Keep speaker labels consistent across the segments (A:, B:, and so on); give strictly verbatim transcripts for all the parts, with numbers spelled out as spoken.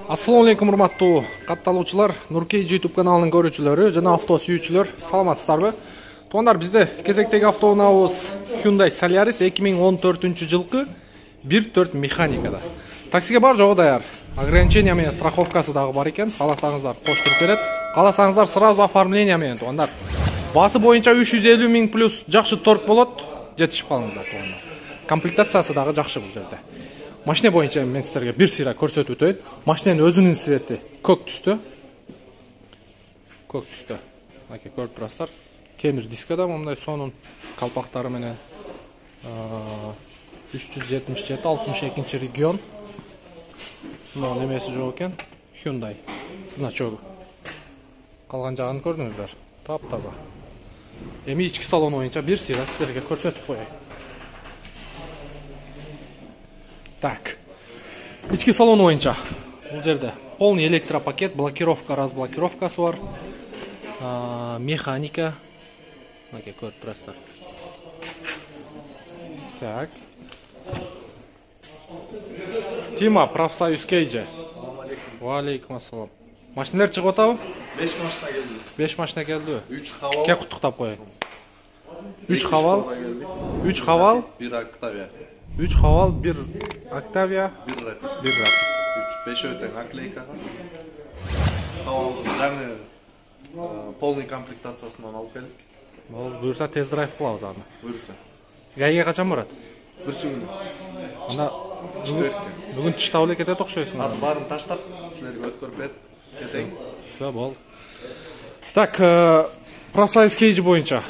A: Assalamu alaikum урматтуу катталуучулар, Нуркей YouTube каналынын көрүүчүлөрү жана авто сүйүүчүлөр, саламатсыздарбы? Туугандар, бизде кезектеги автоунаабыз Hyundai Solaris эки миң он төртүнчү жылкы бир төрт механикада. Таксиге бар жогу даяр. Ограничение менен страховкасы дагы бар экен. Кааласаңыздар кош туруп берет. Кааласаңыздар сразу оформление менен туугандар. Басы боюнча үч жүз элүү миң плюс жакшы торг болот. Жетишип калыңыздар туугандар. Комплектациясы дагы жакшы бул жерде. Машина боюнча мен силерге бир сыйра көрсөтүп өтөйүн. Машинанын өзүнүн цвети көк түстө. Көк түстө. Мынакей көрүп турасыздар. Темир дискада мындай сонун калпактары менен үч жүз жетимиш жети алтымыш экинчи регион. Мына немеси жок экен. Hyundai значогу. Калган жагын көрдүңүздөр. Таптаза. Эми ички салон боюнча бир сыйра силерге көрсөтүп коеюн. Так. Ички салон боюнча бул жерде полный электропакет, блокировка, разблокировкасы бар. Механика. Мынакей көрүп турасыздар. Так. Тима профсоюз Кейже. Ва алейкум ассалам. Машиналар чыгып атабы?
B: беш машина келди.
A: беш машина келди.
B: үч хавал.
A: Ке куттуктап коеюн. үч хавал. үч хавал,
B: бир Октавия.
A: үч хавал, бир Октавия,
B: бир Rapid.
A: бир Rapid.
B: беш өтөн наклейка. Хавал жаңы полный комплектациясынан алып келдик.
A: Бул буюрса тест-драйв кылабыз аны.
B: Буюрса.
A: Гайга качан барат?
B: Бир күн.
A: Анда бүгүн тыштап эле кетет окшойсуң.
B: Азыр баарын таштап, силерге өткөрүп берип кетейин.
A: Всё бол. Так, профсоюз Кейж боюнча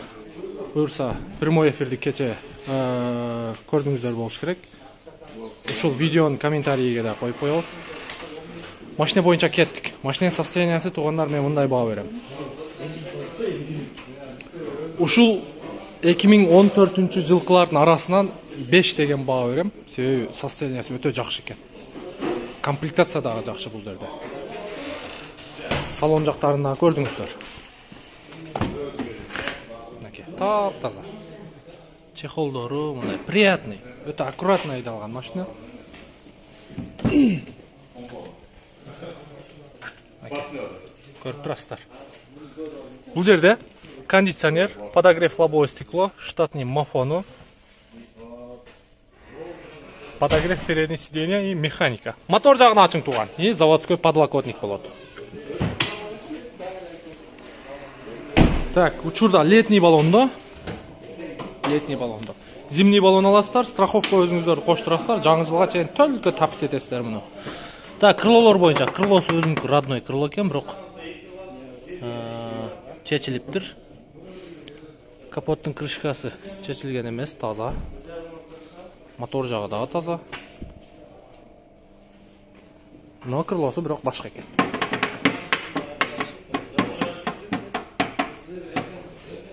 A: буюрса прямой эфирди кече көрдүңүздөр болуш керек. Ушул видеонун комментарийге да коюп коебуз. Машина боюнча кеттик. Машинанын состояниясы туугандар мен мындай баа берем. Ушул эки миң он төртүнчү жылкылардын арасынан беш деген баа берем. Себеби состояниясы өтө жакшы экен. Комплектация дагы жакшы бул жерде. Салон жактарын дагы көрдүңүздөр. Мынакей таптаза. Чехолдору мындай приятный, өтө аккуратно айдалган машина. Көрүп турасыздар. Бул жерде кондиционер, подогрев лобовое стекло, штатный мафону, подогрев передних сидений и механика. Мотор жагын ачың туган и заводской подлокотник болот. Так, учурда летний баллондо. Летний баллондо. Зимний баллон аласыздар, страховка өзүңүздөр коштурасыздар, жаңы жылга чейин только таптит этесиздер муну. Так, крылолор боюнча крылосу өзүнүн родной крыло экен, бирок чечилиптир. Капоттун крышкасы чечилген эмес, таза. Мотор жагы дагы таза. Но крылосу бирок башка экен.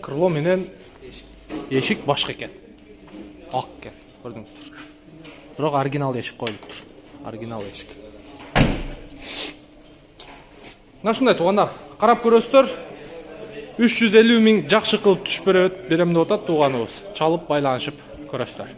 A: Крыло менен эшик башка экен. Ак экен, көрдүңүздөр. Бирок оригинал эшик коюлуптур. Оригинал эшик. Мына ушундай туугандар, карап көрөсүздөр. үч жүз элүү миң жакшы кылып түшүп берет, берем деп атат тууганыбыз. Чалып байланышып көрөсүздөр.